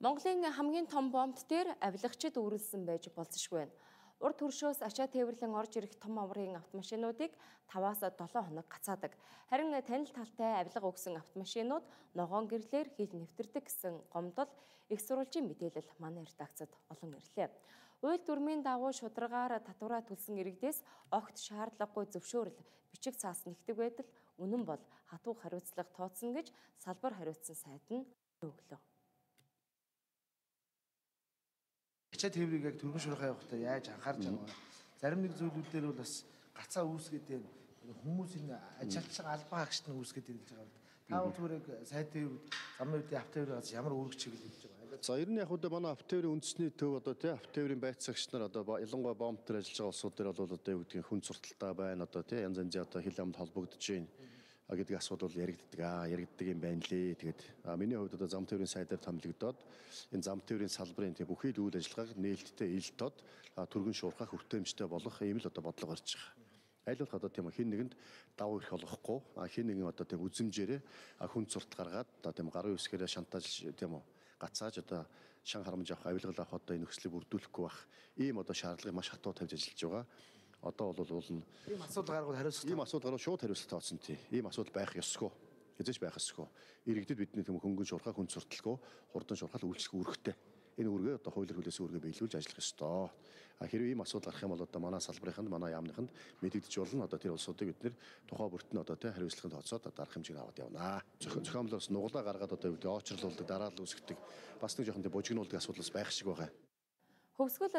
Монголын хамгийн том бомбт дээр авилагчид үүрэлсэн байж болзошгүй байна. Урд төршөөс ачаа тээвэрлэн орж ирэх том аваргын автомашинуудыг 5-7 хоног гацаадаг. Харин танил талтай авилга өгсөн автомашинууд ногоон гэрлээр хил нэвтэрдэг гэсэн гомдол их сурвалжийн мэдээлэл манай редакцид олон ирлээ. Уйл дүрмийн дагуу шударгаар татвараа төлсөн иргэдээс огт шаардлагагүй зөвшөөрөл бичиг цаас нэгдэг байтал үнэн бол хатуу хариуцлага тооцсон гэж салбар хариуцсан сайд нь өглөө. Ачаа тээврийг яг төргөн шуурхай явахдаа яаж анхаарч байгаа вэ? Зарим нэг зүйлүүдээр бол бас гацаа үүсгээд байна. Хүмүүсийн ажилчин албан хаагчд нь үүсгээд байна гэж байгаа. Та зүгээр яг сайд тээврүүд, замын үеийн автотээврээс ямар үүрэг чиглэл хийж байгаа? За ер нь яг одоо манай автотээврийн үндэсний төв одоо тий автотээврийн байцаагч нар одоо ялангуяа бомб дээр ажиллаж байгаа улсууд дээр бол одоо юу гэдгийг хүн сурталтай байна одоо тий янз янзын одоо хил амд холбогдож байна гэдэг асуудал яригддаг юм байна лээ. Тэгээд миний хувьд одоо зам тээврийн сайдаар томилогдоод энэ зам тээврийн салбарын тий бүхий л үйл ажиллагааг нээлттэй ил тод түргэн шуурхах хүртээмжтэй болох ийм л одоо бодлого гарч байгаа. Аль болох одоо тийм хин нэгэнд давуу ирэх болохгүй хин нэгэн одоо тийм үзэмжээрээ хүн сурт гаргаад одоо тийм гарын үсгээрээ шантаж тийм үү гацааж одоо шан харамж авах авилгал авах одоо энэ нөхцөлийг бүрдүүлэхгүй байх ийм одоо шаардлагыг маш хатуу тавьж ажиллаж байгаа. Одоо бол ийм асуудал гаргал хариуцлага ийм асуудал гаргал шууд хариуцлага тооцсон тий. Ийм асуудал байх ёсгүй. Хэзээ ч байх ёсгүй. Иргэдэд бидний тийм хөнгөн шуурхай хүн сурталгүй хурдан шуурхай үйлчлэх үүрэгтэй. Энэ үүргээ одоо хуулиар хүлээсэн үүргээ биелүүлж ажиллах ёстой. Хэрвээ ийм асуудал гарах юм бол одоо манай салбарынханд манай яамныханд мэдэгдэж болно. Одоо тэр улсуудыг бид нэр тухай бүрт нь одоо тий хариуцлагын тооцоод дарах хэмжээнд аваад явнаа. Зохиомлоос нуглаа гаргаад одоо очрлуулдаг, дараалал үүсгдэг бас нэг жоохон тий бужигнуулдаг асуудал байх шиг байгаа. Хөвсгөл